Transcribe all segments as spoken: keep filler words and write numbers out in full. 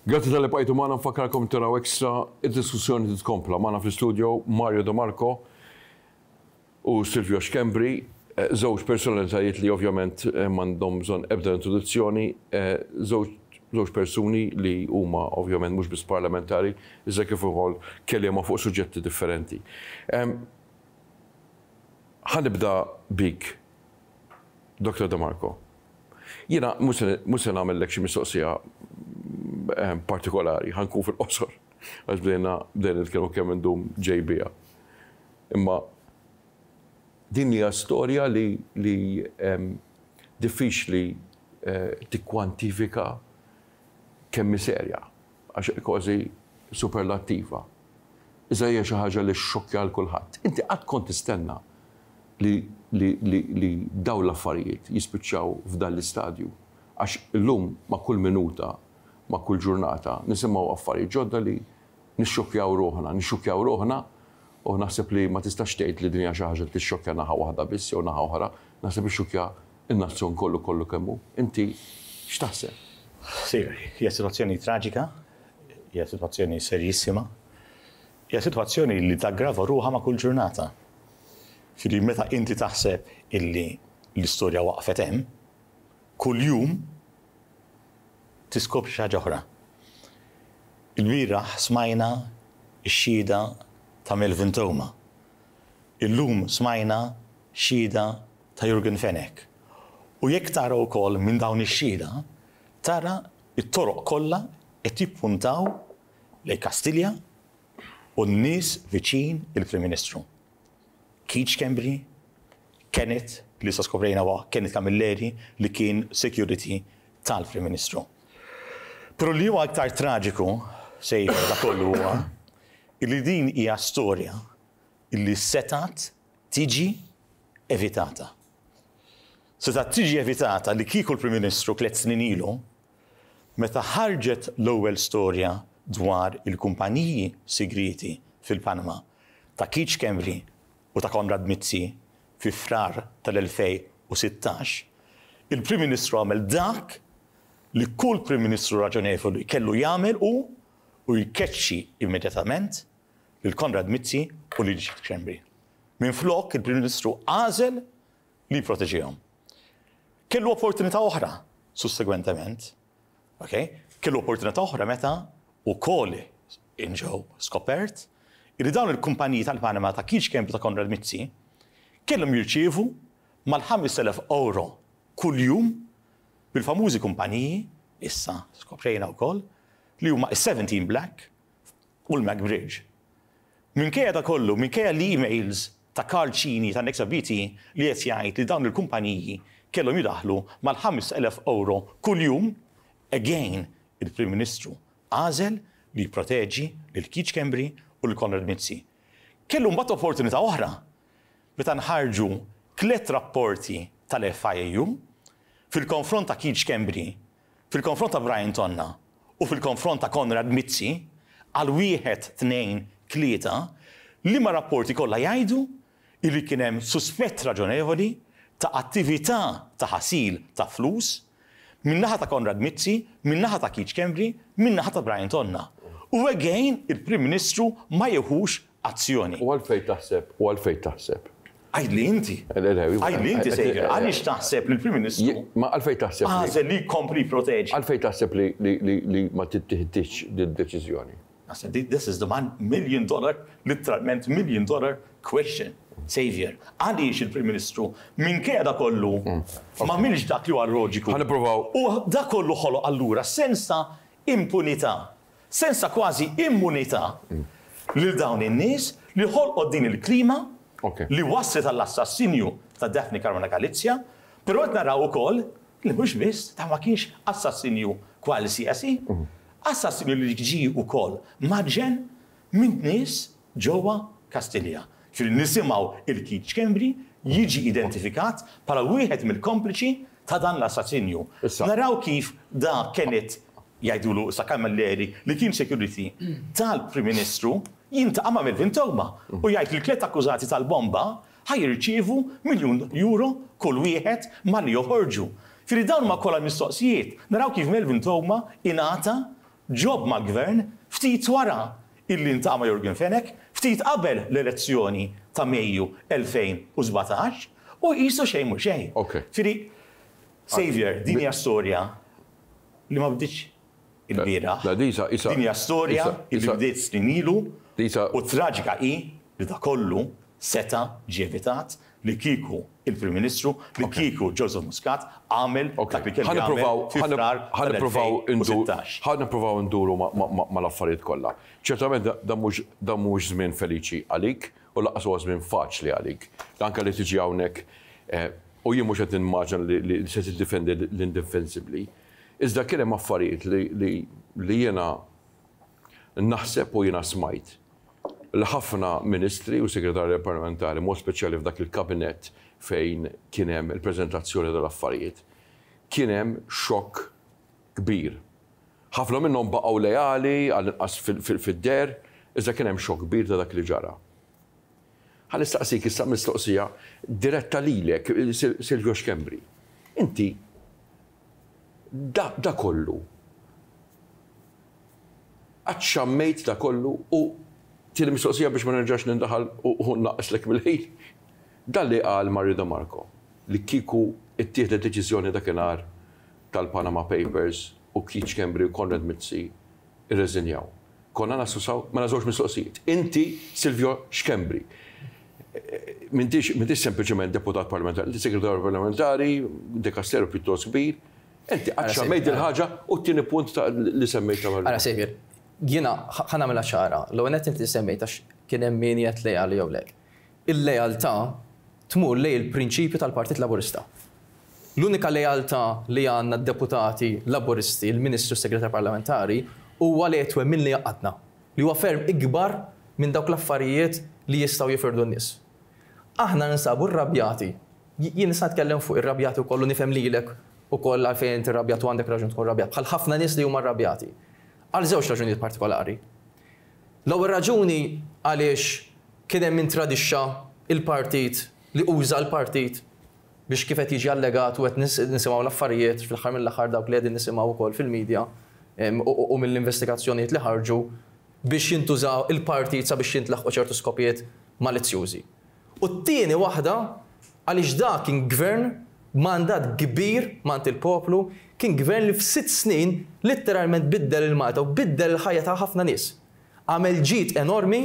Grazzi talli bqajtu magħna. Nfakkarkom taraw Extra, id-diskussjoni titkompla. Magħna fl-studio Mario De Marco u Silvio Schembri, eh, żewġ personalitajiet li ovvjament eh, m'għandhom bżonn ebda introduzzjoni, eh, żewġ żewġ persuni li huma ovvjament mhux biss parlamentari, iżda kif ukoll kelliema fuq suġġetti differenti. Em, Ħa nibda bik, Doktor De Marco. Jiena mhux se nagħmellek xi mistoqsija eh, partikolari, ħa nkun fil-qosor, għax bdejna bdejna nitkellmu kemm indum ġej bija. Imma din hija storja li li em, diffiċli eh, tikkwantifika kemm hi serja, għax kważi superlattiva. Iżda hija xi ħaġa li xxokkja l kulħadd. Inti qatt kont tistenna li, li, li, li dawn l-affarijiet jispiċċaw f'dan l-istadju? Għax illum ma' kull minuta, ma' kull ġurnata, nisimgħu affarijiet ġodda li nixxokkjaw ruħna, nixxokkjaw ruħna u naħseb li ma tistax tgħid li din hija xi ħaġa li tixxokkja naħa waħda biss jew naħa oħra, naħseb ixxokkja in-nazzjon kollu kollu kemm hu. Inti x'taħseb? Sì, hija situazzjoni traġika, hija situazzjoni serjissima, hija situazzjoni li taggrava ruħha ma' kull ġurnata. Ġifieri meta inti taħseb illi l-istorja waqfet hemm, kull jum tiskopri xi ħaġa oħra. Il-bieraħ smajna x-xhieda ta' Melvin Theuma. Illum smajna xhieda ta' Yorgen Fenech. U jekk tara wkoll minn dawn ix-xhieda, tara it-toroq kollha qed jippuntaw lejn Kastilja u n-nies viċin il-Prim Ministru. Keith Schembri, Kenneth, li sa skoprejna huwa Kenneth Camilleri, li kien security tal-Prim Ministru. Però li huwa aktar traġiku sejf da kollu huwa illi din hija storja illi setat tiġi evitata. Setat tiġi evitata li kieku l-Prim Ministru tliet snin ilu, meta ħarġet l-ewwel storja dwar il-kumpaniji segreti fil-Panama ta' Keith Schembri u ta' Konrad Mizzi fi Frar tal-elfejn u sittax, il-Prim Ministru għamel dak li kull Prim Ministru raġonevoli kellu jagħmel u u jkeċċi immedjatament lil Konrad Mizzi u lil Keith Schembri. Minn flok il-Prim Ministru għażel li jproteġihom. Kellu opportunità oħra sussegwentement. Okay? Kellu opportunità oħra meta ukoll inġew skopert li dawn il-kumpaniji tal-Panama ta' Keith Schembri, ta' Konrad Mizzi kellhom jirċievu mal-ħamest elef euro kull-jum bil-famużi kumpaniji, issa skoprejna wkoll, li huma is-seventeen Black u l-MacBridge. Minkejja da kollu, minkejja l-emails ta' Karl Cini ta' Nexa B T li qed jgħid li dawn il-kumpaniji kellhom jidaħlu mal-ħamest elef euro kull-jum, again il-Prim Ministru għażel li jproteġi lil Keith Schembri u lil Konrad Mizzi. Kellu mbagħad opportunità oħra meta nħarġu tliet rapporti tal-F I U fil-konfront ta' Keith Schembri, fil-konfront ta' Brian Tonna u fil-konfront ta' Konrad Mizzi għal wieħed, tnejn, tlieta, li ma rapporti kollha jgħidu illi kien hemm suspett raġonevoli ta' attività ta' ħasil ta' flus min-naħa ta' Konrad Mizzi, min-naħa ta' Keith Schembri, min-naħa ta' Brian Tonna. U again, il-Prim Ministru ma jieħux azzjoni. U għalfejn taħseb, u għalfejn taħseb? Għidli inti. Le, le, Għidli inti, Sejjer, għaliex taħseb li l-Prim Ministru Ma għalfejn taħseb li għażel li jkompli proteġi? Għalfejn taħseb li li li li ma tittieħdx din deċiżjoni? Naħseb this is the one million dollar, literalment million dollar question. Xavier, għaliex il-Prim Ministru minkejja da kollu ma għamilx dak li huwa loġiku? Ħa nippruvaw. U da kollu ħoloq allura sens ta' impunità, sens ta' kważi immunità lil dawn in-nies li ħolqot din il-klima Ok. li waslet għall-assassinju ta' Daphne Caruana Galizia, però qed naraw ukoll li mhux biss ta' ma kienx assassinju qualsiasi, assassinju li ġi ukoll maġen minn nies ġewwa Kastilja. Ġifieri nisimgħu il-Keith Schembri jiġi identifikat bħala wieħed mill-kompliċi ta' dan l-assassinju. Issa. Naraw kif da Kenneth, jgħidulu sa Camilleri, li kien security tal-Prim Ministru, jiltaqa' ma' Melvin Theuma u jgħid li tliet akkużati tal-bomba ħa jirċievu miljun euro kull wieħed malli joħorġu. Ġifieri dawn ma kollha mistoqsijiet. Naraw kif Melvin Theuma ingħata job mal-gvern ftit wara illi ltaqa' ma' Yorgen Fenech, ftit qabel l-elezzjoni ta' Mejju elfejn u sbatax, u qisu xejn mhu xejn. Ok. Ġifieri, Xavier, din hija storja li ma bdietx il-bieraħ. La, disa- isa- Din hija storja isa- li isa- bdiet snin ilu Disa- u traġika hi li da kollu seta ġie evitat li kieku il-Prim Ministru, li kieku Joseph Muscat għamel dak li kellu Ħa nippruvaw jagħmel fi Frar ħa nippruvaw indur tal-elfejn u sittax. Ħa nippruvaw induru ma- ma- ma- mal-affarijiet kollha. Ċertament da- da mhux da mhux żmien feliċi għalik u lanqas huwa żmien faċli għalik. Anke li tiġi hawnhekk eh, u jien mhux qed nimmaġina li li se tiddefendi l-indefensibbli. Iżda kien hemm affarijiet li li li jiena naħseb u jiena smajt li ħafna ministri u segretarji parlamentari, mod speċjali f'dak il-kabinet fejn kien hemm il-preżentazzjoni tal-affarijiet, kien hemm xokk kbir. Ħafna minnhom baqgħu leali għall-inqas fid-deher, iżda kien hemm xokk kbir ta' dak li ġara. Ħa nistaqsik issa mistoqsija diretta lilek, Sil- Silvio Schembri. Inti da, da kollu għadxammejt da kollu u tieni mistoqsija biex ma nerġax nindaħal u u naqslek mill-ħin. Dan li qal Mario De Marco li kieku ittieħdet deċiżjoni dakinhar tal-Panama Papers u Keith Schembri u Konrad Mizzi irreżinjaw. Konna naslu saw, ma nażewx mistoqsijiet. Inti Silvio Schembri. M'intix m'intix sempliċement deputat parlamentari, inti segretarju parlamentari, dikasteru pjuttost kbir. Inti għadxammejt il-ħaġa u t-tieni punt ta' li semmejt ta' Mario. Ara Xavier, jiena ħa nagħmilha ċara, l-ewwel inti semmejt għax kien hemm min jgħid lejali jew le. Il-lealtà tmur lejn il-prinċipju tal-Partit Laburista. L-unika lealtà li għandna d-deputati laburisti, il-Ministru Segretar Parlamentari, huwa li twemmin li jgħaqqadna. Li huwa ferm ikbar minn dawk l-affarijiet li jistgħu jifirdu n-nies. Aħna ninsabu rrabjati. Jien nista' nitkellem fuq irrabjati wkoll u nifhem lilek ukoll għalfejn inti rrabjat u għandek raġun tkun rrabjat. Bħal ħafna nies li huma rrabjati. Għal żewġ raġunijiet partikolari. L-ewwel raġuni għaliex kien hemm min tradixxa il-partit li uża l-partit biex kif qed jiġi allegat u qed nisimgħu l-affarijiet fl-aħħar mill-aħħar dawk li qegħdin nisimgħu wkoll fil-medja u mill-investigazzjonijiet li ħarġu biex jintużaw il-partit sabiex jintlaħqu ċertu skopijiet malizzjużi. U t-tieni waħda għaliex da kien gvern mandat kbir mingħand il-poplu, kien gvern li f'sitt snin literalment biddel il-Malta u biddel il-ħajja ta' ħafna nies. Għamel ġid enormi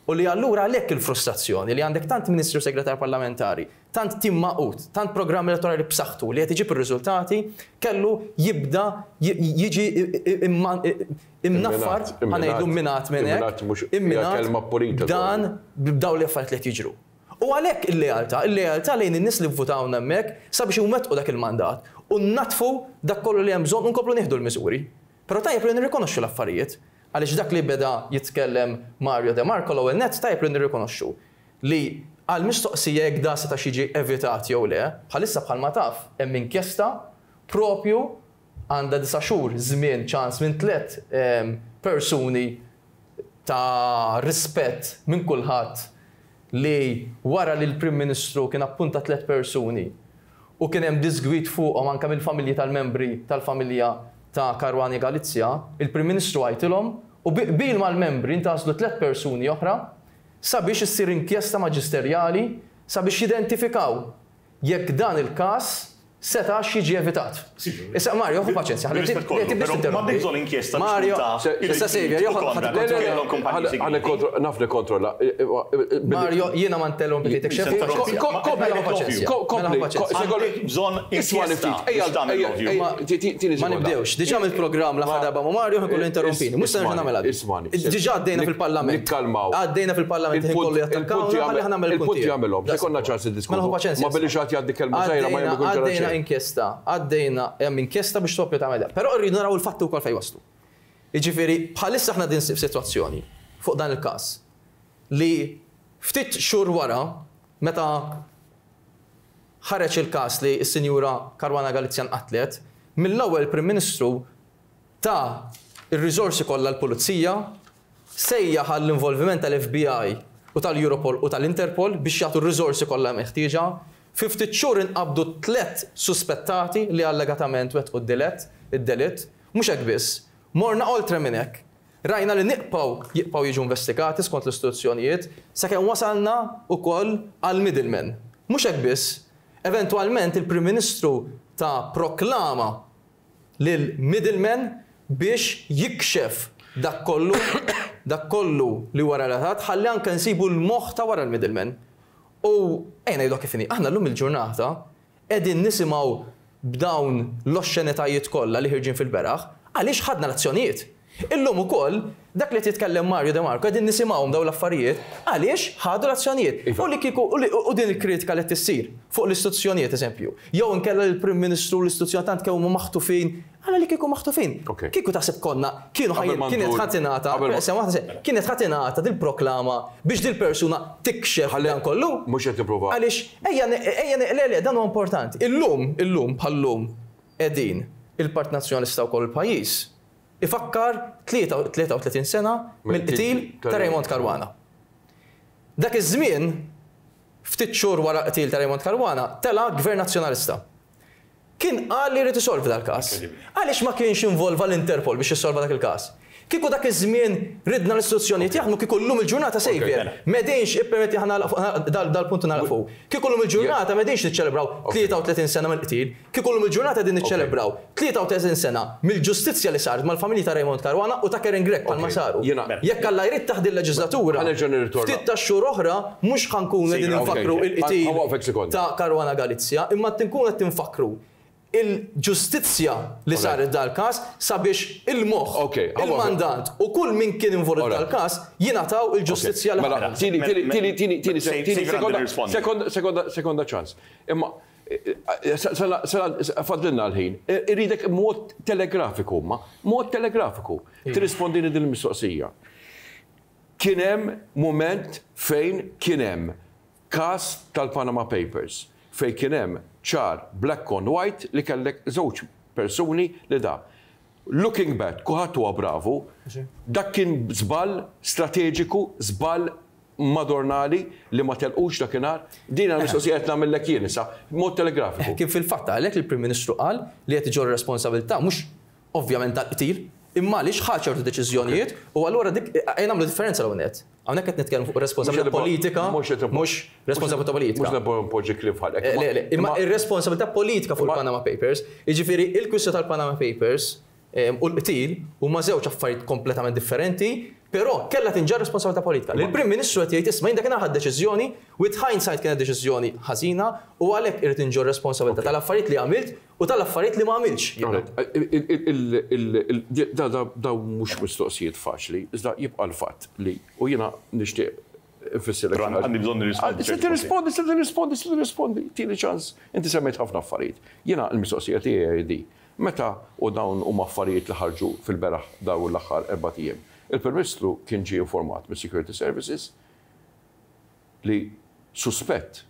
u li allura għalhekk il-frustrazzjoni li għandek tant ministru segretar parlamentari, tant tim magħqud, tant programm elettorali b'saħħtu li qed iġib ir-riżultati, kellu jibda jiġi imnaffar, ħa ngħidu imminat minn hekk, imminat dan b'daw li affarijiet li qed jiġru. U għalhekk il-lealtà, il-lealtà lejn in-nies li vvutawna hemmhekk sabiex iwettqu dak il-mandat u natfu dak kollu li hemm bżonn u nkomplu nieħdu l-miżuri. Però tajjeb li nirrikonoxxu l-affarijiet. Għaliex dak li beda jitkellem Mario De Marco, l-ewwel nett tajjeb li nirrikonoxxu li għal mistoqsija jekk da seta' jiġi evitat jew le, bħalissa bħalma taf hemm inkjesta propju għandha disa' xhur żmien ċans minn tliet persuni ta' rispett minn kulħadd li wara li l-Prim Ministru kien appunta tliet persuni u kien hemm disgwid fuqhom anke mill-familji tal-membri tal-familja ta' Caruana Galizia, il-Prim Ministru għajtilhom u bi qbil mal-membri ntgħażlu tliet persuni oħra sabiex issir inkjesta maġisterjali sabiex jidentifikaw jekk dan il-każ setax jiġi evitat. Issa Mario, ħu paċenzja, ħalli M'għandek bżonn inkjesta. Mario, issa Xavier, jo Naf nikkontrolla. Mario, jiena ma ntellompejtek xejn. Kompli, Bżonn inkjesta. Ma nibdewx, diġà mill-programm l-aħħar darba ma' Mario ħin interrompini, mhux se nerġa' nagħmel. Ismani. Diġà għaddejna fil-Parlament. Nikkalmaw. Għaddejna fil-Parlament ħin kollu jattakkaw, ħalli ħa nagħmel Il-punti jagħmelhom, se konna ċans niddiskutu. Ma billi xi ħadd jgħaddi kelma żgħira ma jkun ġara Għaddejna inkjesta, għaddejna hemm inkjesta biex topju tagħmel. Però rridu naraw il-fatti wkoll fejn waslu. Jiġifieri bħalissa aħna din f'sitwazzjoni fuq dan il-każ li ftit xhur wara meta ħareġ il-każ li s-Sinjura Caruana Galizia nqatlet, mill-ewwel Prim Ministru ta ir-riżorsi kollha l-Pulizija, sejjaħ għall-involviment tal-F B I u tal-Europol u tal-Interpol biex jagħtu r-riżorsi kollha meħtieġa. Fi ftit xhur inqabdu tliet suspettati li allegatament wettqu d-delett, id-delitt, mhux hekk biss. Morna oltre minn hekk. Rajna li nibqgħu jibqgħu jiġu investigati skont l-istituzzjonijiet sakemm wasalna wkoll għal middleman. Mhux hekk biss, eventwalment il-Prim Ministru ta proklama lil middleman biex jikxef dak kollu dak kollu li wara relatat ħalli anke nsibu l-moħħ ta' wara l-middleman. U ejja ngħidu kif inhi, aħna llum il-ġurnata qegħdin nisimgħu b'dawn l-oxxenitajiet kollha li ħirġin fil-beraħ għaliex ħadna l-azzjonijiet. Illum ukoll dak li titkellem Mario De Marco qegħdin nisimgħuhom dawn l-affarijiet għaliex ħadu l-azzjonijiet. U li kieku u din il-kritika li tissir fuq l-istituzzjonijiet eżempju. Jew inkella l-Prim Ministru l-istituzzjoni tant kemm huma maħtufin, għala li kieku maħtufin. Kieku taħseb konna kienu kienet ħa tingħata, kienet ħa tingħata dil-proklama biex dil-persuna tikxef dan kollu. Mhux qed tipprova. Għaliex ejja ejja le le dan huwa importanti. Illum, illum bħallum qegħdin il-Partit Nazzjonalista wkoll il-pajjiż ifakkar tlieta u tletin sena mill-qtil ta' Raymond Caruana. Dak iż-żmien, ftit xhur wara qtil ta' Raymond Caruana, tela Gvern Nazzjonalista. Kien qal li jrid isolvi dal-każ. Għaliex ma kienx involva l-Interpol biex jissolva dak il-każ? Kieku dak iż-żmien ridna l-istituzzjonijiet jaħdmu, kieku llum il-ġurnata sejjer. M'qegħdinx ippermetti ħana dal-punt nagħlqu. Kieku llum il-ġurnata m'qegħdinx niċċelebraw tlieta u tletin sena mill-qtil, kieku llum il-ġurnata qegħdin niċċelebraw tlieta u tletin sena mill-ġustizzja li saret mal-familji ta' Raymond Caruana u ta' Karin Grech bħalma saru. Jekk Alla jrid taħt il-leġislatura, ftit ta' xhur oħra mhux ħa nkunu qegħdin nfakru il-qtil ta' Caruana Galizia, imma tinkun qed tinfakru il-ġustizzja li saret dal-każ sabiex il-moħħ, il-mandant u kull min kien involut dal-każ jingħataw il-ġustizzja li Mela, tini, tini, tini, tini, tini, tini, sekonda, sekonda, sekonda ċans. Imma, fadlilna l-ħin, irridek mod telegrafiku, ma, mod telegrafiku, tirrispondini din il-mistoqsija. Kien hemm moment fejn kien hemm każ tal-Panama Papers, fejn kien hemm ċar black on white li kellek żewġ persuni li da. Looking back, kulħadd huwa bravu, dak kien żball strateġiku, żball madornali li ma telqux dakinhar. Din għal mistoqsija qed nagħmellek jien issa, mod telegrafiku. Kien fil-fatt għalhekk il-Prim Ministru qal li qed iġorr responsabilità mhux ovvjament tal-qtil, imma għaliex ħa ċertu deċiżjonijiet u allura dik ejja nagħmlu differenza l net. Hawnhekk qed nitkellmu fuq responsabilità politika, mhux responsabilità politika. Mhux npoġġi kliem f'ħalqek. Le, le, imma ir-responsabilità politika fuq il-Panama Papers, jiġifieri il-kwistjoni tal-Panama Papers u l-qtil huma żewġ affarijiet kompletament differenti, però kellha tinġarr responsabilità politika. Il-Prim Ministru qed jgħid, isma', jien dak deċiżjoni, with hindsight kienet deċiżjoni ħażina u għalhekk irid inġorr responsabilità tal-affarijiet li għamilt u tal-affarijiet li ma għamiltx. Daw mhux mistoqsijiet faċli, iżda jibqa' l-fatt li u jiena nixtieq infissirlek. Għandi bżonn nirrispondi. Se tirrispondi, se tirrispondi, se tirrispondi. Tini ċans, inti semmejt ħafna affarijiet. Jiena l-mistoqsija tiegħi di. Meta u dawn huma affarijiet li ħarġu fil-beraħ dawn l-aħħar erba' ijiem. Il-Prim Ministru kien ġie informat mis-Security Services li suspett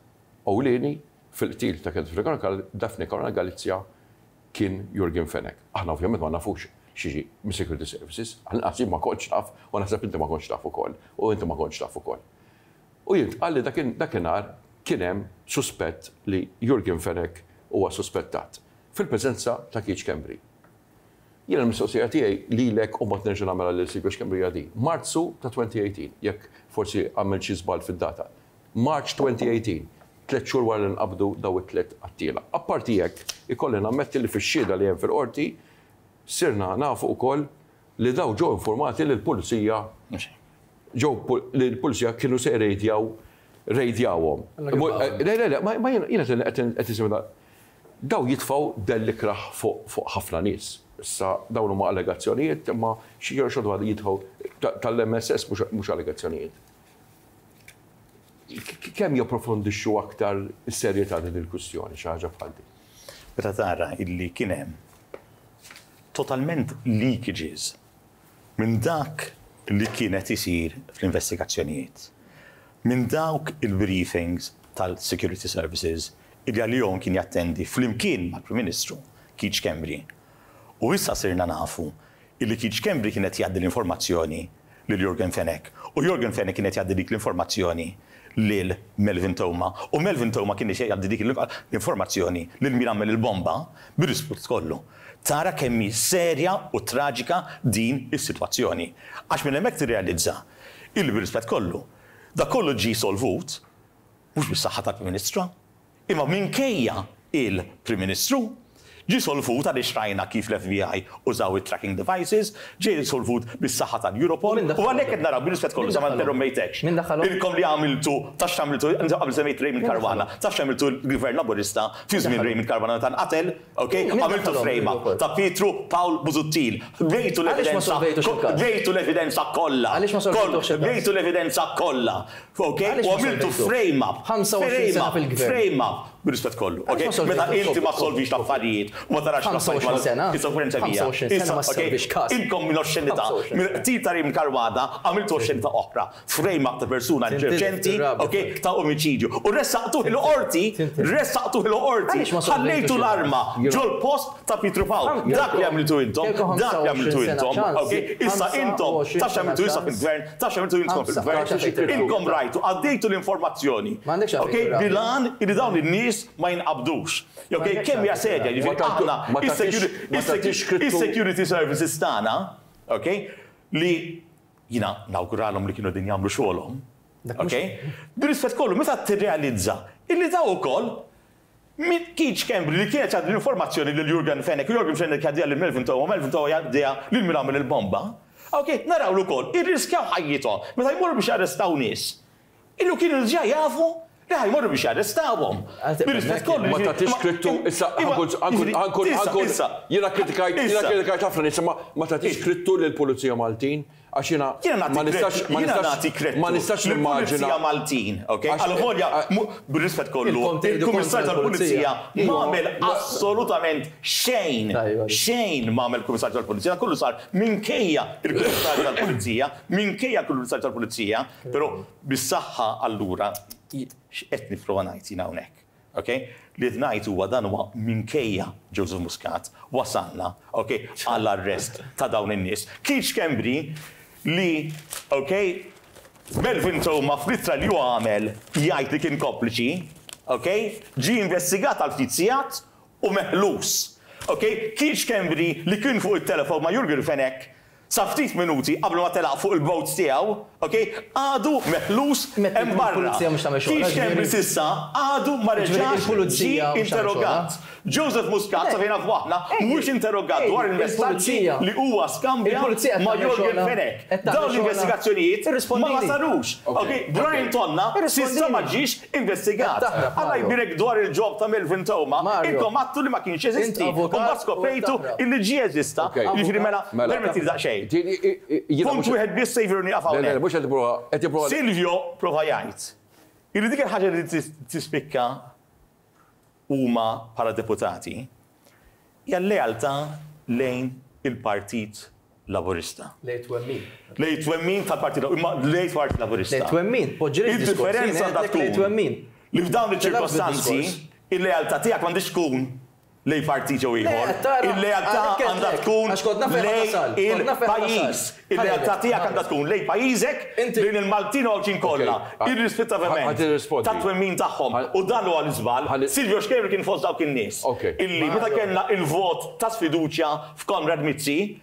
ewlieni fil-qtil ta' Daphne Caruana Galizia kien Yorgen Fenech. Aħna ovvjament ma nafux x'jiġi mis-Security Services, għax ma kontx naf, u naħseb inti ma kontx taf ukoll, u inti ma kontx taf ukoll. U jintqal li dakinhar kien hemm suspett li Yorgen Fenech huwa suspettat fil-preżenza ta' Keith Schembri. Jiena l-mistoqsija tiegħi lilek u ma nerġa' nagħmel lil Silvio Schembri di. Marzu ta' elfejn u tmintax, jekk forsi għamel xi żball fid-data. March twenty eighteen, tliet xhur wara li nqabdu daw it-tliet qattiela. Apparti jekk, ikolli nammetti li fix-xhieda li hemm fil-qorti sirna nafu wkoll li daw ġew informati li l-pulizija ġew li l-pulizija kienu se rejdjaw rejdjawhom. Le, le, le, ma jiena qed isimha daw jitfaw dell ikrah fuq ħafna nies. Issa dawn huma allegazzjonijiet, imma xi xorta jitfgħu tal-M S S mhux allegazzjonijiet. Kemm japprofondixxu aktar is-serjetà din il-kwistjoni xi ħaġa bħal din? Meta tara illi kien hemm totalment leakages minn dak li kienet isir fl-investigazzjonijiet, minn dawk il-briefings tal-Security Services illi għalihom kien jattendi flimkien mal-Prim Ministru Keith Schembri. U issa sirna nafu illi Keith Schembri kienet jgħaddi l-informazzjoni lil Yorgen Fenech. U Yorgen Fenech kienet jgħaddi dik l-informazzjoni lil Melvin Theuma. U Melvin Theuma kien jgħaddi dik l-informazzjoni lil min għamel il-bomba bir-rispett kollu. Tara kemm hi serja u traġika din is-sitwazzjoni. Għax minn hemmhekk tirrealizza illi bir-rispett kollu. Da kollu ġie solvut mhux bis-saħħa tal-Prim Ministru, imma minkejja il-Prim Ministru ġie solvut għaliex rajna kif l-F B I użaw it-tracking devices, ġie solvut bis-saħħa tal-Europol, Min u daħħalhom? għalhekk qed naraw bil-rispett kollu, Min sa ma daħħalhom? interrompejtekx. Min daħħalhom? Ilkom li għamiltu, taf x'għamiltu, qabel semmejt Raymond Min Caruana, taf x'għamiltu l-Gvern Laburista fi żmien daħħalhom? Raymond Caruana tal-qatel, ok? Min Għamiltu daħħalhom frame up l-Europol? ta' Pietru Pawl Busuttil. Bejtu Għaliex ma l-evidenza, solvejtux il-każ? bejtu l-evidenza kollha. Għaliex ma solvejtux il-każ? Bejtu l-evidenza kollha. Ok? Għaliex U ma għamiltu solvejtuh? frame up. ħamsa u għoxrin sena fil-gvern. Frame up. Bir-rispett kollu. Ok? Għaliex ma Meta solvejtux? inti ma solvix l-affarijiet u ma tarax ħamsa u għoxrin sena? Issa bija. ħamsa u għoxrin sena ma Issa, ok, solvix każ. Inkom minn oxxenità, ħamsa u għoxrin minn sena. qtil ta' Raymond Caruana għamiltu oxxenità oħra. Frame up ta' persuna Tintilef inċerċenti, tir-rabja. ok, ta' omicidju. U ressaqtuh il-qorti, Tintilef. ressaqtuh il-qorti, Għaliex ma solvejtux ħallejtu il-każ? l-arma ġol-post ta' Pietru Pawl. Ħam- Dak li għamiltu intom, Kelkom dak li għamiltu ħamsa u għoxrin sena intom, ċans. ok? Issa intom, ħamsa u għoxrin taf x'għamiltu issa sena fil-gvern, taf x'għamiltu intom Ħamsa, fil-gvern, għaliex inkom rajtu, għaddejtu l-informazzjoni. M'għandekx għalfejn Ok, tirrabja. bil-għan illi dawn in-nies ma jinqabdux. Ok, M'għandekx kemm hija għalfejn serja, tirrabja. jiġifieri Ma tagħtu- aħna ma tagħtix- ma tagħtix krittu- is-security services tagħna, ok, li jiena nawguralhom li kienu din jagħmlu xogħolhom. Dak Ok? Bir-rispett kollu, meta tirrealizza illi daw ukoll Min Keith Schembri li kienet għaddi l-informazzjoni lil Yorgen Fenech, u Yorgen Fenech jgħaddiha lil Melvin Theuma, Melvin Theuma jgħaddiha lil min għamel il-bomba. Ok, naraw l-ukoll, irriskjaw ħajjithom, meta jmorru biex jarrestaw nies. Illu kienu ġa jafu li ħa jmorru biex jarrestawhom. Għal- Bir-rispett kollu. Ma tagħtix krittu, issa, imma- ħa nkun, ħa nkun, jiġifieri, ħa nkun, issa, ħa nkun, issa, jiena kritikajt, jiena issa. kritikajt ħafna nies, ma ma tagħtix krittu lill-Pulizija Maltin, għax jiena Jiena nagħti ma nistax, ma jiena nistax, nagħti kredtu ma nistax nimmaġina. lill-Pulizija Maltin, ok? Għax- Għal-volja, għax- bir-rispett kollu, Ilkom tgħidu il-Kummissarju kontra tal-Pulizija l-Pulizija. ma għamel assolutament xejn, Tajba. xejn ma għamel Kummissarju tal-Pulizija, kollu sar minkejja il-Kummissarju tal-Pulizija, minkejja il-Kummissarju tal-Pulizija, però bis-saħħa allura x'qed nipprova ngħid jiena hawnhekk. Ok? Li qed ngħid huwa dan huwa minkejja Joseph Muscat wasalna, ok, għall-arrest ta' dawn in-nies. Keith Schembri li, ok, Melvin Theuma fl-ittra li huwa għamel jgħid li kien kompliċi, ok, ġi investigat għal ftit sigħat u meħlus. Ok, Keith Schembri li kien fuq il-telefon ma' Yorgen Fenech sa ftit minuti qabel ma telaq fuq il-boat tiegħu, ok, għadu meħlus Meta hemm barra. il-pulizija mhux tagħmel xogħol, Keith Schembri ġifieri- s'issa għadu ma Ġifieri reġax ġi il-pulizija mhux tagħmel interrogat. Joseph Muscat, sa fejn nafu aħna, mhux interrogat dwar il-messaġġi il-pulizija- li huwa skambja Il-pulizija qed ma' tagħmel Yorgen xogħolha. Fenech. Qed tagħmel Dawn xogħolha. l-investigazzjonijiet ma Irrispondini. sarux. Ok, Brian Tonna s'issa ma ġiex investigat. Qed taħrab, Alla Mario. jbirek dwar il-job ta' Melvin Theuma, Mario. intom għattu li ma kienx jeżisti. Int avukat U mbagħad skoprejtu u taħrab. illi ġie jeżista. Ok. Jiġifieri mela, Mela. permetti daqsxejn. Ti- i- i- jiena Punt mhux- wieħed biss Saviour nieqaf Le, le, hawnhekk. mhux qed tipprova, qed tipprova. Silvio prova jgħid. Illi dik il-ħaġa li tis- tispikka huma bħala deputati hija l-lealtà lejn il-Partit Laburista. Lejn twemmin. Lejn twemmin tal-Partit imma lejn Partit Laburista. Lejn twemmin, poġġi Il-differenza jien għandha għedtlek lejn tkun twemmin. li f'dawn iċ-ċirkostanzi Tilgħab bid-diskors. il-lealtà tiegħek m'għandix tkun lejn partit jew ieħor. Le, tara, Il-lealtà għalhekk għandha għedtlek, tkun għax kont naf fejn lejn tasal, kont naf fejn il-pajjiż. tasal. Il-lealtà Ħalli, tiegħek għandha tkun lejn pajjiżek, Inti- lejn il-Maltin u Għawdxin kollha, Ok. irrispettivament Ħa tirrispondi. ta' twemmin tagħhom. Ħa- U dan huwa l-iżball. Ħalli- Silvio Schembri kien fost dawk in-nies. Ok. Illi meta kellna il-vot ta' sfiduċja f'Konrad Mizzi,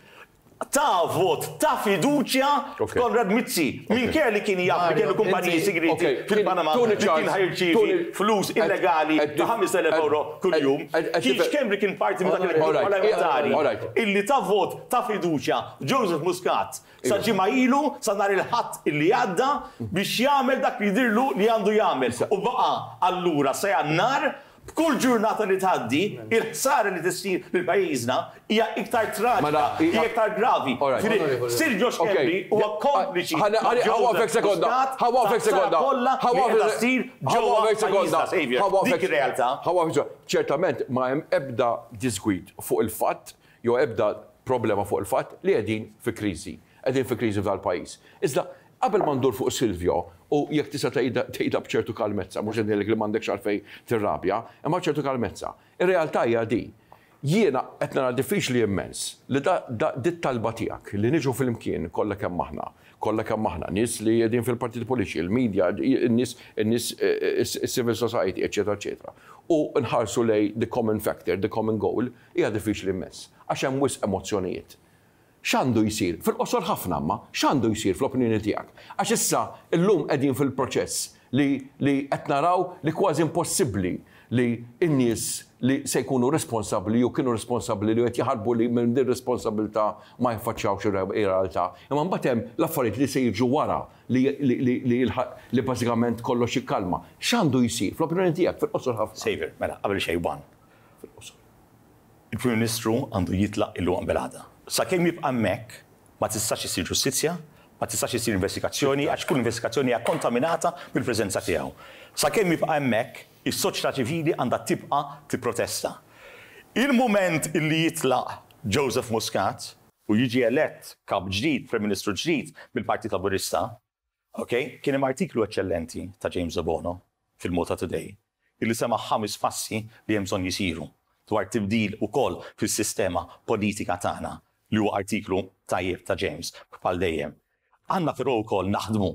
ta' vot ta' fiduċja Ok. f'Konrad Mizzi. Minkejja li kien jaf li Mario, kellu kumpaniji inti- segreti Ok, fil-Panama Tony li kien Charles, ħa jirċievi Tony- flus Ed- illegali ed- ta' ħamest elef ed- euro kuljum. ed- ed- Keith Schembri kien parti minn dak il-grupp Alright, parlamentari alright. illi ta' vot ta' fiduċja Joseph Muscat sa ġimgħa ilu, sa nhar il-Ħadd illi għadda, biex jagħmel dak li jidhirlu li għandu jagħmel. U baqa' allura sa Jannar b'kull ġurnata li tgħaddi, il-ħsara li tissir lil pajjiżna hija iktar traġika, Mela, hija iktar gravi. Alright. Ġifieri, Silvio Schembri huwa kompliċi Ħa- ħa- ħa waqfek sekonda, ħa waqfek sekonda, kollha ħa li waqfek- qiegħda ssir ħa ġewwa waqfek sekonda, pajjiżna, Saviour. ħa waqfek- Dik ir-realtà. ħa waqfek sekonda. Ċertament ma hemm ebda disgwid fuq il-fatt jew ebda problema fuq il-fatt li qegħdin fi kriżi. Qegħdin fi kriżi f'dal-pajjiż. Iżda qabel ma ndur fuq Silvio u jekk tista' tgħidha tgħidha b'ċertu kalmezza, mhux qed ngħidlek li m'għandekx għalfejn tirrabja, imma ċertu kalmezza. Ir-realtà hija di. Jiena qed nara diffiċli immens li da, da dit talba tiegħek li niġu flimkien kollha kemm aħna, kollha kemm aħna, nies li qegħdin fil-partiti politiċi, il-media, in-nies, in-nies, civil society, eċetera, eċetera. U nħarsu lejn the common factor, the common goal, hija diffiċli immens. Għax hemm wisq emozzjonijiet. X'għandu jsir? Fil-qosor ħafna ma, x'għandu jsir fl-opinjoni tiegħek? Għax issa illum qegħdin fil-proċess li li qed naraw li kważi impossibbli li n-nies li se jkunu responsabbli jew kienu responsabbli li qed jaħarbu li minn din responsabilità ma jaffaċċjawx ir-realtà. Imma mbagħad hemm l-affarijiet li se jiġu wara li li li li li bażikament kollox jikkalma. X'għandu jsir fl-opinjoni tiegħek fil-qosor ħafna? Saviour, mela, qabel xejn one. Fil-qosor. Il-Prim Ministru għandu jitlaq illum qabel għada. Sakemm jibqa' hemmhekk ma tistax isir ġustizzja, ma tistax isir investigazzjoni, għax kull investigazzjoni hija kontaminata bil-preżenza tiegħu. Sakemm jibqa' hemmhekk, is-soċjetà ċivili għandha tibqa' tipprotesta. Il-moment illi jitlaq Joseph Muscat u jiġi elett kap ġdid, Prim Ministru ġdid mill-Partit Laburista, ok, kien hemm artiklu eċċellenti ta' James Debono fil-Malta Today illi sema ħames passi li hemm bżonn jisiru dwar tibdil ukoll fis-sistema politika tagħna, li huwa artiklu tajjeb ta' James bħal dejjem. Għandna però wkoll naħdmu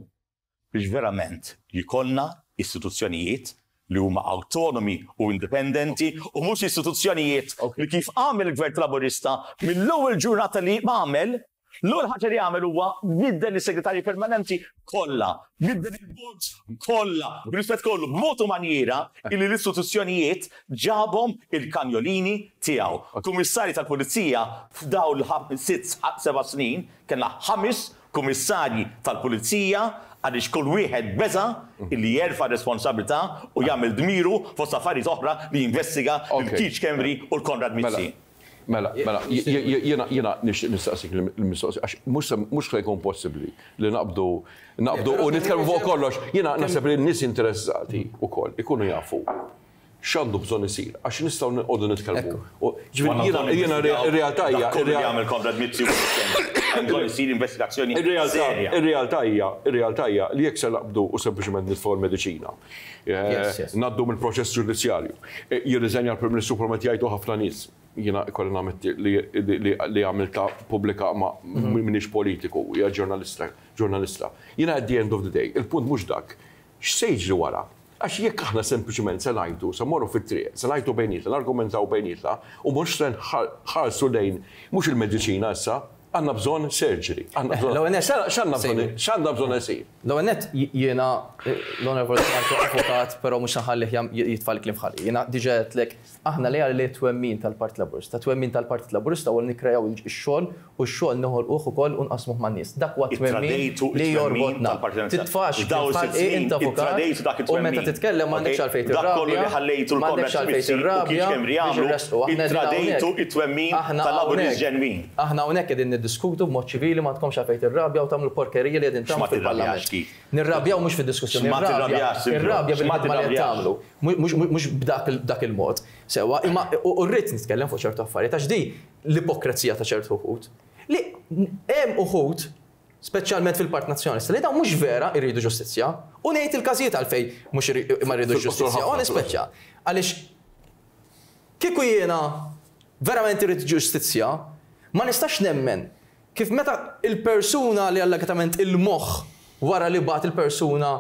biex verament jkollna istituzzjonijiet li huma autonomi u indipendenti u mhux istituzzjonijiet li kif għamel il-Gvern Laburista mill-ewwel ġurnata li għamel, l-ewwel ħaġa li għamel huwa biddel is-segretarji permanenti kollha, biddel il-boards kollha, b'rispett kollu, b'mod u manjiera illi l-istituzzjonijiet ġabhom il-kanjolini tiegħu. Kummissarji tal-Pulizija, f'dawn l-sitt seba' snin kellna ħames kummissarji tal-Pulizija għaliex kull wieħed beża illi jerfa' responsabilità u jagħmel dmiru fost affarijiet oħra li jinvestiga Ok. il-Keith Schembri u l-Konrad Mizzi. Mela, mela, jiena jiena nixtieq nistaqsik il-mistoqsija għax mhux se- mhux se jkun possibbli li naqbdu naqbdu u nitkellmu fuq kollox. Jiena naħseb li n-nies interessati wkoll ikunu jafu x'għandu bżonn isir għax nistgħu noqogħdu nitkellmu. U ġifieri jiena jiena ir-realtà hija Dak kollu li jagħmel Konrad Mizzi u Keith Schembri. Hemm bżonn isir investigazzjoni Ir-realtà serja. Ir-realtà hija, ir-realtà hija li jekk se naqbdu u sempliċement nitfgħu l-mediċina. Eh, Yes, yes. Ngħaddu mill-proċess ġudizzjarju. Eh, Jirriżenja l-Prim Ministru bħalma jgħidu ħafna nies. Jiena ikolli nammetti li li li għamilta pubblika ma minix politiku, hija ġurnalista, ġurnalista. Jiena at the end of the day, il-punt mhux dak. X'se jiġri wara? Għax jekk aħna sempliċement se ngħidu, se morru fit-triq, se ngħidu bejnietna, nargumentaw bejnietna, u mhux se nħarsu lejn mhux il-mediċina issa, għandna bżonn surgery. Għandna bżonn. L-ewwel nett- X'għandna bżonn x'għandna bżonn isir? L-ewwel nett jiena l-Onorevoli Marco avukat, però mhux nħallih jitfa' l-kliem f'ħalqi. Jiena diġà għedtlek aħna li għalli twemmin tal-Partit Laburista. Twemmin tal-Partit Laburista u nikkrejaw ix-xogħol u x-xogħol noħolquh ukoll u nqasmuh man-nies. Dak huwa twemmin Ittradejtu li it-twemmin jorbotna. tal-Partit Laburista. Titfax F'dawn f'ħalqi is-sitt snin int avukat ittradejtu dak u meta it-twemmin. titkellem m'għandekx Ok? għalfejn Dak kollu li tirrabja. ħallejtu M'għandekx l-Konrad għalfejn Mizzi u Keith tirrabja Schembri biex jagħmlu, irresqu. Aħna qegħdin ittradejtu hawnhekk. it-twemmin Aħna tal-Laburist hawnhekk- ġenwin. Aħna hawnhekk qegħdin niddiskutu b'mod ċivili, ma tkomx għalfejn tirrabja u tagħmlu porkerija li qegħdin tagħmlu X'ma tirrabjax, fil-Parlament. Keith? Nirrabjaw mhux fid-diskussjoni. X'ma Irrabja tirrabjax, Silvio? irrabja X'ma bil-ħidma li qed tirrabjax? tagħmlu. Mhux mhux b'dak il- dak il-mod. Sewwa, imma u rrid nitkellem fuq ċertu affarijiet għax di l-ipokrezija ta' ċertu uħud. Li hemm uħud speċjalment fil-Partit Nazzjonalista, li dawn mhux vera jridu ġustizzja, u ngħid il-każijiet għalfejn mhux iri- ma jridu Fil-qosor ġustizzja, ħafna, u nispeċċa. Għaliex kieku jiena verament irrid ġustizzja, ma nistax nemmen kif meta il-persuna li allegatament il-moħħ wara li bagħat il-persuna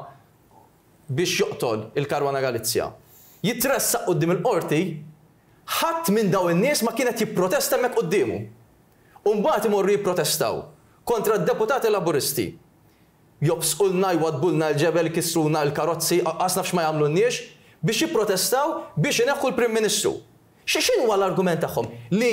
biex joqtol il-Caruana Galizia jitressaq quddiem il-qorti, ħadd minn daw in-nies ma kienet jipprotesta hemmhekk quddiemu. U mbagħad imorru jipprotestaw kontra d-deputati Laburisti. Jobsqulna, jwadbulna l-ġebel, kisruna l-karozzi, qas nafx ma jagħmlunniex biex jipprotestaw biex ineħħu l-Prim Ministru. Xi x'inhu l-argument tagħhom? Li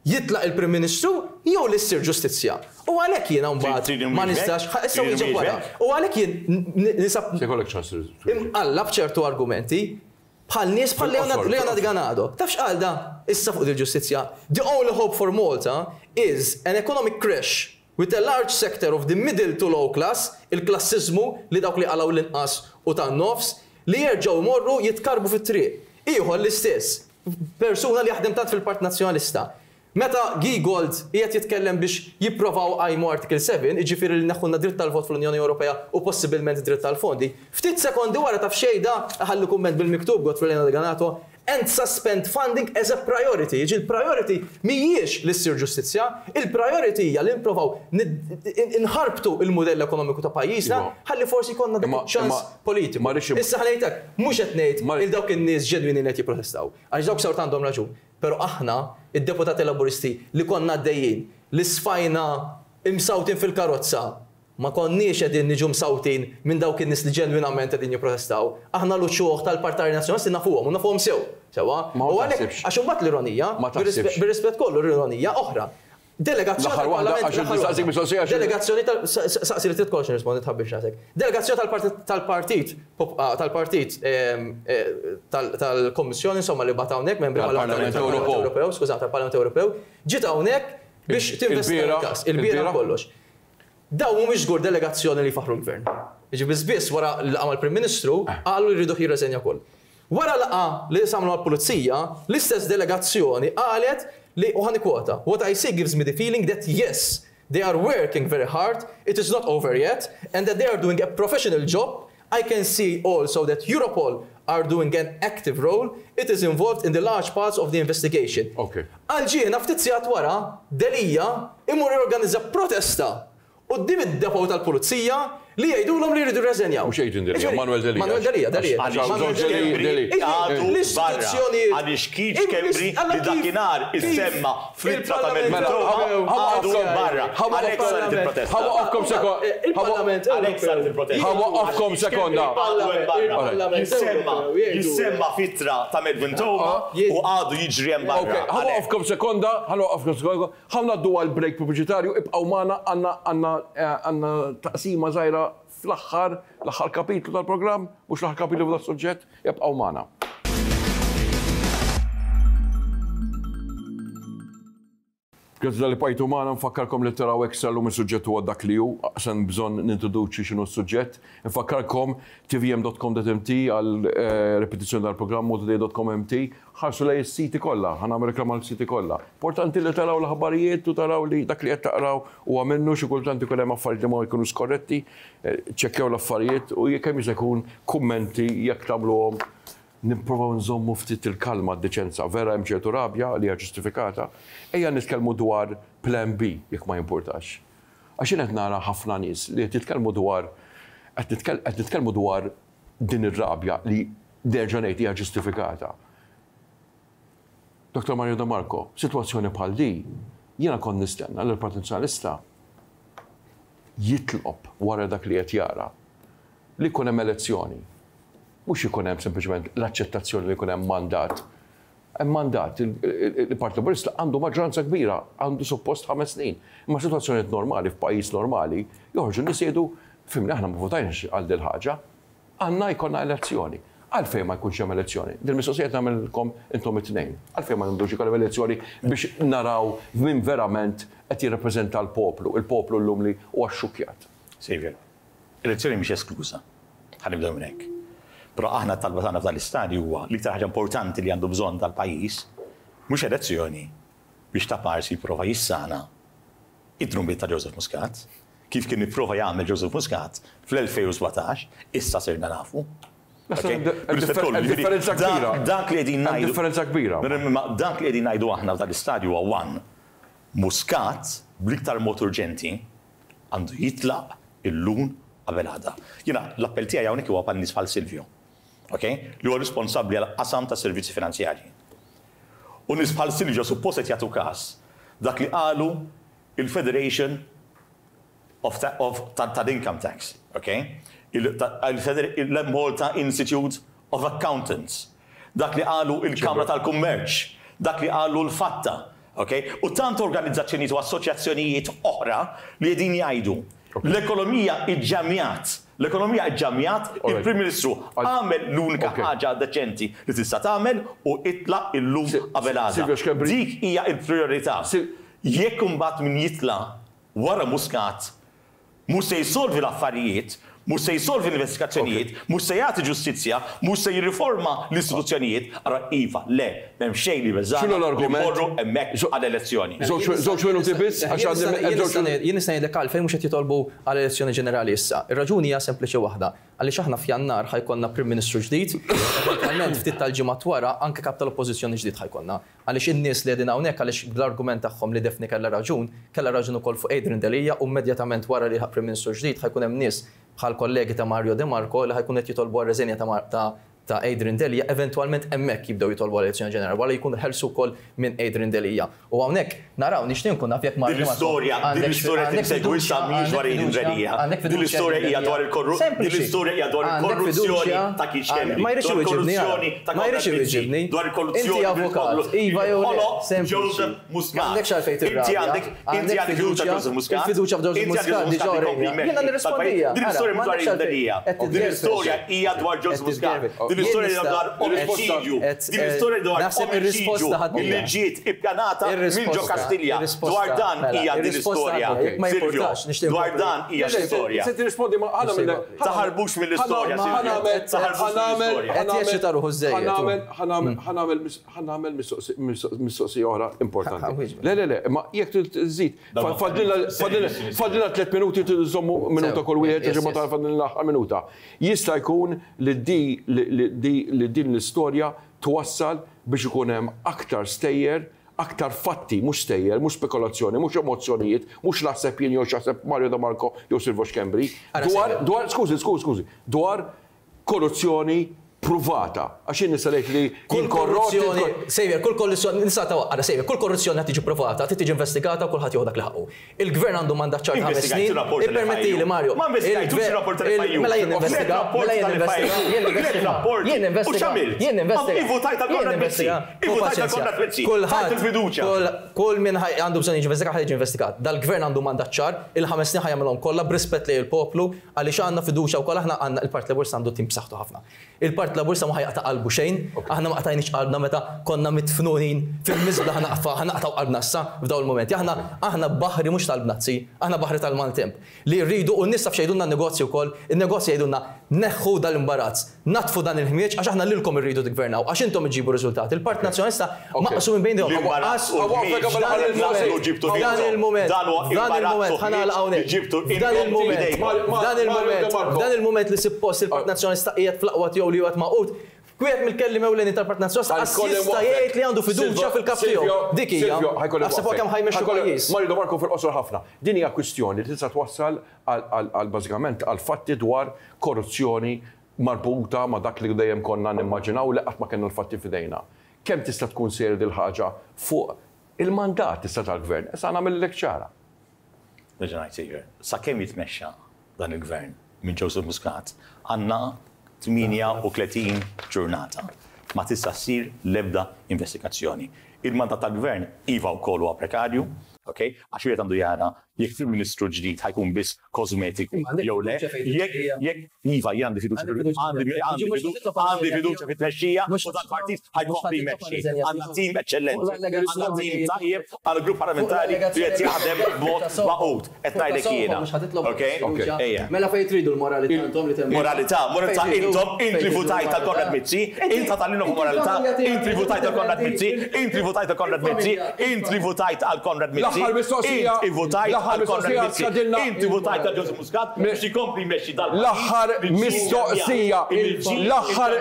jitlaq il-Prim Ministru jew li ssir ġustizzja? U għalhekk jiena mbagħad Trid ma inwieġbek? nistax, ħa- issa Trid wieġeb wara. inwieġbek? U għalhekk jien n- n- nisab Se jkollek ċans. imqallab ċertu argumenti bħal nies bħal Leonard Fil-qosor, Leonard fil-qosor. Ganado. Taf x'qal da? Issa fuq il-ġustizzja. "The only hope for Malta is an economic crash with a large sector of the middle to low class", il-klassizmu li dawk li qalgħu l-inqas u tan-nofs, li jerġgħu jmorru jitkarbu fit-triq. Ieħor l-istess, persuna li jaħdem tant fil-Partit Nazzjonalista. Meta Giegold qiegħed jitkellem biex jipprovaw għajmu Article seba', jiġifieri li neħħulna dritt tal-vot fl-Unjoni Ewropea u possibilment dritt tal-fondi, ftit sekondi wara taf xejda ħallu kumment bil-miktub Godfrey Leonard Ganado, and suspend funding as a priority. Jiġi il-priority mhijiex li ssir ġustizzja, il-priority hija li nipprovaw nħarbtu il-modell ekonomiku ta' pajjiżna ħalli forsi jkollna dak iċ-ċans politiku. Issa ħa ngħidlek, mhux qed ngħid il dawk in-nies ġenwini li qed jipprotestaw, għax dawk sawt għandhom raġun. Però aħna, id-deputati Laburisti li konna għaddejjin, li sfajna imsawtin fil-karozza, ma konniex qegħdin niġu msawtin minn dawk in-nies li ġenwinament qegħdin jipprotestaw. Aħna l-uċuħ tal-Partari Nazzjonalisti nafuhom u nafuhom sew. Sewwa? U għalhekk għax imbagħad l-ironija, bir-rispett kollu l-ironija oħra. Delegazzjoni tal-Parlament. Delegazzjoni tal saqsi li trid kollox nirrispondi tħabbix rasek. Delegazzjoni tal-partit tal-partit tal-Kommissjoni insomma li bagħat hawnhekk membri tal-Parlament Ewropew, skuża tal-Parlament Ewropew, ġiet hawnhekk biex tinvestiga l-każ, il-bieraħ kollox. Daw mhumiex żgur delegazzjoni li faħru l-gvern. Jiġi biss biss wara l-laqgħa mal-Prim Ministru qalu li jridu jirreżenja wkoll. Wara laqgħa li samlu għall-pulizija, l-istess delegazzjoni qalet li, u ħa nikkwota, "What I see gives me the feeling that yes, they are working very hard, it is not over yet, and that they are doing a professional job. I can see also that Europol are doing an active role. It is involved in the large parts of the investigation." Okay. Għalġiena ftit sigħat wara, Delia imur jorganizza protesta quddiem id-depot tal-pulizija li jgħidulhom li jridu jirreżenjaw. Mhux Adrian Delia, Manuel Delia. Manuel Delia, Delia. L-istituzzjoni. Għaliex Keith Schembri li dakinhar issemma fl-ittra ta' Melvin Theuma għadu barra. Għalhekk saret il-protesta. Ħa nwaqqafkom sekonda. Il-Parlament. Għalhekk saret il-protesta. Ħa nwaqqafkom sekonda. Jissemma, jissemma fl-ittra ta' Melvin Theuma u għadu jiġri hemm barra. Ħa nwaqqafkom sekonda, ħa nwaqqafkom sekonda. Ħa ngħaddu għal break pubbliċitarju, ibqgħu magħna għandna għandna taqsima żgħira fl-aħħar, l-aħħar kapitlu tal-programm, mhux l-aħħar kapitlu tas-suġġett, jibqgħu magħna. Grazzi talli bqajtu magħna, nfakkarkom li taraw Extra llum is-suġġett huwa dak li hu, aqsan bżonn nintroduċi x'inhu s-suġġett. Nfakkarkom t v m dot com dot m t għal repetizzjoni tal-programm u today dot com m t. Ħarsu lej is-siti kollha, ħa nagħmel reklam għal-siti kollha. Importanti li taraw l-aħbarijiet u taraw li dak li qed taqraw huwa minnu, xi kultant ikun hemm affarijiet li ma jkunu skorretti, ċekkjaw l-affarijiet u jekk hemm jista' jkun kummenti jekk tagħmluhom nipprovaw nżommu ftit il-kalma d-deċenza. Vera hemm ċertu rabja li hija ġustifikata. Ejja nitkellmu dwar plan B jekk ma jimpurtax. Għax jien qed nara ħafna nies li qed jitkellmu dwar qed nitkellmu dwar din ir-rabja li nerġa' ngħid hija ġustifikata. Doktor Mario De Marco, sitwazzjoni bħal di, jiena kont nistenna li l-Partit Nazzjonalista jitlob wara dak li qed jara li jkun hemm elezzjoni. Mhux ikun hemm sempliċement l-aċċettazzjoni li jkun hemm mandat. Hemm mandat, il-Partit Laburista għandu maġġoranza kbira, għandu suppost ħames snin. Imma sitwazzjonijiet normali f'pajjiż normali joħorġu nies jgħidu fimni aħna ma votajniex għal dil ħaġa, għandna jkollna elezzjoni. Għalfejn ma jkunx hemm elezzjoni? Din mistoqsija qed nagħmilkom intom it-tnejn. Għalfejn ma nagħmlux ikollhom elezzjoni biex naraw min verament qed jirrappreżenta l-poplu, il-poplu llum li huwa xxukkjat. Xavier, elezzjoni mhix eskluża. Ħa nibdew minn hekk. Però aħna t-talba tagħna f'dan l-istadju huwa l-iktar ħaġa importanti li għandu bżonn tal-pajjiż mhux elezzjoni biex ta' parsi jipprova jissana id-drumbiet ta' Joseph Muscat, kif kien jipprova jagħmel Joseph Muscat fl-elfejn u sbatax, issa sirna nafu. Differenza kbira. Dak li qegħdin ngħidu. Differenza kbira. Dak li qegħdin ngħidu aħna f'dan l-istadju huwa one. Muscat bl-iktar mod urġenti għandu jitlaq illum qabel għada. Jiena l-appell tiegħi hawnhekk huwa bħal nies bħal Silvio. Okay? Li huwa responsabbli għal qasam ta' servizzi finanzjarji. U nies bħal Silvio suppost qed jagħtu każ dak li qalu il-Federation of, of tal-Income Tax, okay? Il-Malta Institute of Accountants, dak li qalu il-Kamra tal-Kummerċ, dak li qalu l-Fatta, okay? U tant organizzazzjonijiet u assoċjazzjonijiet oħra li qegħdin jgħidu l-ekonomija iġġamjat, l-ekonomija iġġamjat, il-Prim Ministru għamel l-unika ħaġa deċenti li tista' tagħmel u itlaq illum qabel għada. Dik hija l-priorità. Jekk imbagħad min jitla' wara Muscat mhux se jsolvi l-affarijiet, Mhux se jsolvi l-investigazzjonijiet, mhux se jagħti ġustizzja, mhux se jirriforma l-istituzzjonijiet, ara iva, le, m'hemm xejn li beżgħana. X'inhu l-argument? Morru hemmhekk għall-elezzjoni. Żewġ minuti biss għax għandi Jien nista' ngħidlek għalfejn mhux qed jitolbu għall-elezzjoni ġenerali issa. Ir-raġuni hija sempliċi waħda. Għaliex aħna f'Jannar ħa jkollna Prim Ministru ġdid, eventwalment ftit tal-ġimgħat wara anke kap tal-Oppożizzjoni ġdid ħa jkollna. Għaliex in-nies li qegħdin hawnhekk għaliex bl-argument tagħhom li Daphne kellha raġun, kellha raġun ukoll fuq Adrian Delia u immedjatament wara li Prim Ministru ġdid ħa jkun hemm nies bħal kollegi ta' Mario De Marco li ħa jkun qed jitolbu għar-reżenja ta' ta' Adrian Delia, eventwalment hemmhekk jibdew jitolbu għal-elezzjoni ġenerali, wara jkunu ħelsu wkoll minn Adrian Delia. U hawnhekk naraw nixtieq nkun naf jekk Mario Din l-istorja, din l-istorja tinsegwi sa mhijiex dwar Adrian Delia. Din l-istorja hija dwar il-korruzzjoni. Din l-istorja hija dwar il-korruzzjoni ta' Keith Schembri. Ma jridx iwiġibni. Ma jridx iwiġibni. Dwar il-korruzzjoni. Inti avukat. Iva jew le. Joseph Muscat. M'għandekx għalfejn tirrabja. Inti għandek inti għandek fiduċja Joseph Muscat. Il-fiduċja f'Joseph Muscat diġà Jiena nirrispondija. Din l-istorja dwar Adrian Delia. Din l-istorja hija dwar Joseph Muscat. Din l-istorja hija dwar omiċidju. Din l-istorja dwar omiċidju li ġiet ippjanata minn ġo Kastilja. Dwar dan hija din l-istorja. Silvio, dwar dan hija l-istorja. Se tirrispondi ma ħana mill Taħarbux mill-istorja, Silvio. Taħarbux mill-istorja. Qed jeċċita ruħu żejjed. Ħa nagħmel mistoqsija oħra importanti. Le, le, le, ma jekk tżid, fadlilna tliet minuti tżommu minuta kull wieħed, ġimgħa ta' fadlilna l-aħħar minuta. Jista' jkun li li din l-istorja twassal biex ikun hemm aktar stejjer, aktar fatti, mhux stejjer, mhux spekulazzjoni, mhux emozzjonijiet, mhux naħseb jien jew x'jaħseb Mario De Marco jew Silvio Schembri, dwar, dwar, skużi, skużi, skużi, dwar korruzzjoni pruvata. Għax jien nista' ngħid li kull korruzzjoni, Xavier, kull korruzzjoni, nista' tawaqqa, Xavier, kull korruzzjoni qed tiġi provata, trid tiġi investigata u kulħadd jieħu dak li ħaqqu. Il-gvern għandu mandat ċar ħames snin. Ippermettili Mario. Ma investigajtux rapport tal-F I U. Mela jien investiga, mela jien investiga, jien investiga. Jien investiga. Jien investiga. Ivvutajt għal Konrad Mizzi. Ivvutajt għal Konrad Mizzi. Kulħadd il-fiduċja. Kull min għandu bżonn jiġi investigat ħa jiġi investigat. Dal-gvern għandu mandat ċar, il-ħames snin ħa jagħmilhom kollha b'rispett lejn il-poplu għaliex għandna fiduċja wkoll aħna għandna il-Partit Laburista għandu tim b'saħħtu ħafna. Il-Partit Laburista ma ħa jaqta' qalbu xejn, aħna ma qtajniex qalbna meta konna mitfnunin fil-miżbla ħa naqtgħu qalbna issa f'dawn il-momenti. Aħna aħna baħri mhux tal-bnazzi, aħna baħri tal-maltemp. Li rridu u n-nies taf x'jgħidulna n-negozji wkoll, in-negozji jgħidulna neħħu dal-imbarazz, natfu dan il-ħmieġ għax aħna lilkom irridu tiggvernaw, għax intom iġibu riżultati. Il-Partit Nazzjonalista maqsum minn bejn Dan il-moment, dan il-moment, ħa nagħlaq hawnhekk. Dan il-moment, dan il-moment, dan il-moment li suppost il-Partit Nazzjonalista qiegħed fl-aqwa tiegħu li huwa magħqud. Wieħed mill-kelliem ewleni tal-Partit Nazzjonalista jista' jgħid li għandu fiduċja fil-kap tiegħu. Dik hija. Naħseb kemm ħa jmexxu pajjiż. Mario De Marco fil-qosor ħafna. Din hija kwistjoni li tista' twassal għal bażikament għal fatti dwar korruzzjoni marbuta ma' dak li dejjem konna nimmaġinaw li qatt ma kellna l-fatti f'idejna. Kemm tista' tkun serja dil ħaġa fuq il-mandat issa tal-gvern? Issa nagħmel ċara. Nerġa' ngħid sakemm jitmexxa dan il-gvern minn Joseph Muscat, għandna tmienja u tletin ġurnata. Ma tista' ssir l-ebda investigazzjoni. Il-mandat tal-gvern iva wkoll huwa prekarju, ok? Għax wieħed għandu jara jekk il-Ministru ġdid ħa jkun biss kosmetiku jew le. Jekk iva jien għandi fiduċja għandi fiduċja fit-tmexxija u tal-partit ħa jkompli jmexxi. Għandna tim eċċellenti, għandna tim tajjeb, għandna grupp parlamentari li qed jaħdem b'mod magħqud. Qed ngħidlek jiena. Ok? Mela fejn tridu l-moralità intom li temmu. Moralità, moralità intom, inti votajt għal Konrad Mizzi, inta tal-inhom moralità, inti votajt għal Konrad Mizzi, inti votajt għal Konrad Mizzi, inti votajt għal Konrad Mizzi, inti votajt għal Konrad Mizzi, inti votajt għal Joseph Muscat biex ikompli jmexxi dal L-aħħar mistoqsija, l-aħħar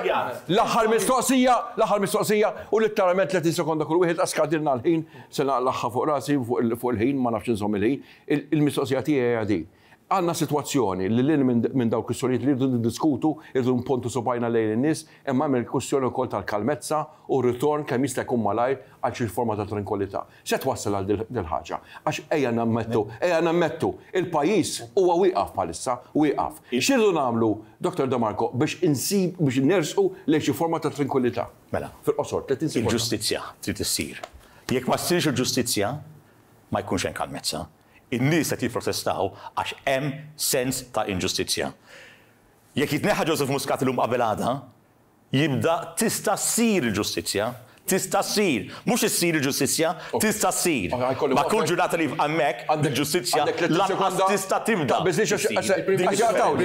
l-aħħar mistoqsija, l-aħħar mistoqsija u letteralment tletin sekonda kull wieħed għax skadilna l-ħin, se naqlaħħa fuq rasi fuq il-ħin, ma nafx inżomm il-ħin. Il-mistoqsija tiegħi hija din. Għandna sitwazzjoni li lil minn dawk kwistjonijiet li rridu niddiskutu, irridu npontu subgħajna lejn in-nies, imma hemm il-kwistjoni wkoll tal-kalmezza u ritorn kemm jista' jkun malajr għal xi forma ta' tranquillità. Se twassal għal dil ħaġa? Għax ejja nammettu, ejja nammettu, il-pajjiż huwa wieqaf bħalissa, wieqaf. X'irridu nagħmlu, Doktor De Marco, biex insib biex nersqu lejn xi forma ta' tranquillità? Mela. Fil-qosor, tletin sekonda. Il-ġustizzja trid issir. Jekk ma ssirx il-ġustizzja, ma jkunx hemm kalmezza. In-nies qed jipprotestaw għax hemm sens ta' inġustizzja. Jekk jitneħħa Joseph Muscat illum qabel għada, jibda tista' ssir il-ġustizzja, Tista' ssir. Mhux issir il-ġustizzja, tista' ssir. Ma kull ġurnata li hemmhekk il-ġustizzja lanqas tista' tibda. Il-Prim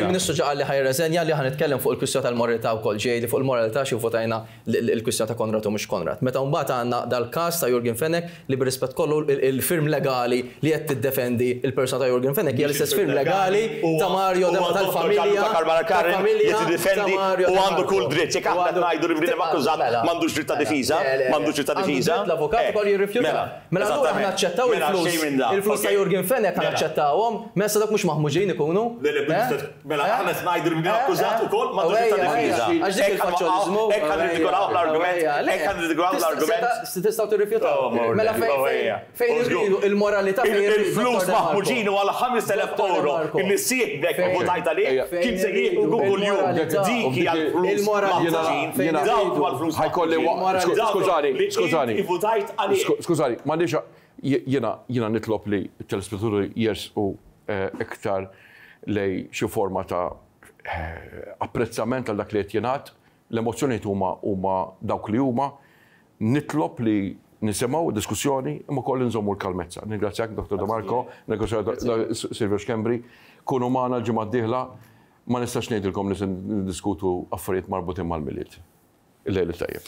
Ministru ġa qal li ħa jirreżenja li ħa nitkellem fuq il-kwistjoni tal-moralità wkoll ġej li fuq il-moralità xi votajna l-kwistjoni ta' Konrad u mhux Konrad. Meta mbagħad għandna dal-każ ta' Yorgen Fenech li bir-rispett kollu il-firm legali li qed tiddefendi il-persuna ta' Yorgen Fenech hija l-istess firm legali ta' Mario tal-familja. Tal-familja tiddefendi u għandu kull dritt. Jekk aħna ngħidu li bniedem akkużat m'għandux dritt ta' difiża. M'għandux dritt ta' difiża. L-avukat ukoll jirrifjuta. Mela allura aħna naċċettaw il-flus. Il-flus ta' Yorgen Fenech aħna naċċettawhom, mela sa dak mhux maħmuġin ikunu. Mela aħna qed ngħidu li bniedem akkużat ukoll m'għandux dritt ta' difiża. Għax dik il-faċċoliżmu. Hekk ħa nirridikolaw l-argument. Hekk ħa nirridikolaw l-argument. Tistgħu tirrifjutaw. Mela fejn irridu il-moralità fejn Il-flus maħmuġin u għal ħamest elef euro illi sieħbek votajt għalih kien se jieħu kuljum. Dik hija l-flus maħmuġin. Dawk huma l-flus maħmuġin. Skużani, skużani. Skużani, m'għandix jiena jiena nitlob li t-telespettaturi jersqu iktar lej xi forma ta' apprezzament għal dak li qed jingħad, l-emozzjonijiet huma huma dawk li huma, nitlob li nisimgħu diskussjoni imma wkoll nżommu l-kalmezza. Ningrazzjak Dottor De Marco, ningrazzjak Silvio Schembri, kunu magħna l-ġimgħa d-dieħla, ma nistax ngħidilkom li se niddiskutu affarijiet marbutin mal-Milied. Il-lejl it-tajjeb.